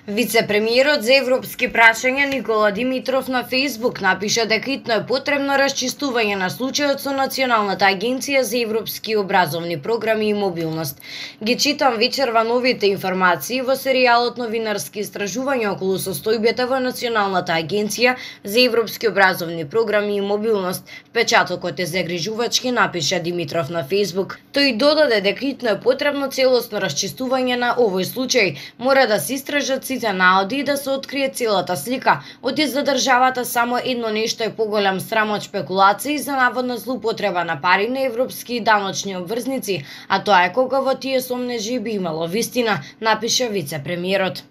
Вице-премиерот за европски прашања Никола Димитров на Facebook напиша дека итно е потребно расчистување на случајот со Националната агенција за европски образовни програми и мобилност. Ги читам вечерва новите информации во серијалот новинарски истражувања околу состојбата во Националната агенција за европски образовни програми и мобилност. Впечатокот е загрижувачки, напиша Димитров на Facebook. Тој додаде дека итно е потребно целосно расчистување на овој случај. Мора да се истражат сите наоди и да се открие целата слика. Оти за државата само едно нешто е поголем срам од спекулации за наводна злоупотреба на пари на европски даночни обврзници, а тоа е кога во тие сомнежи би имало вистина, напиша вице-премиерот.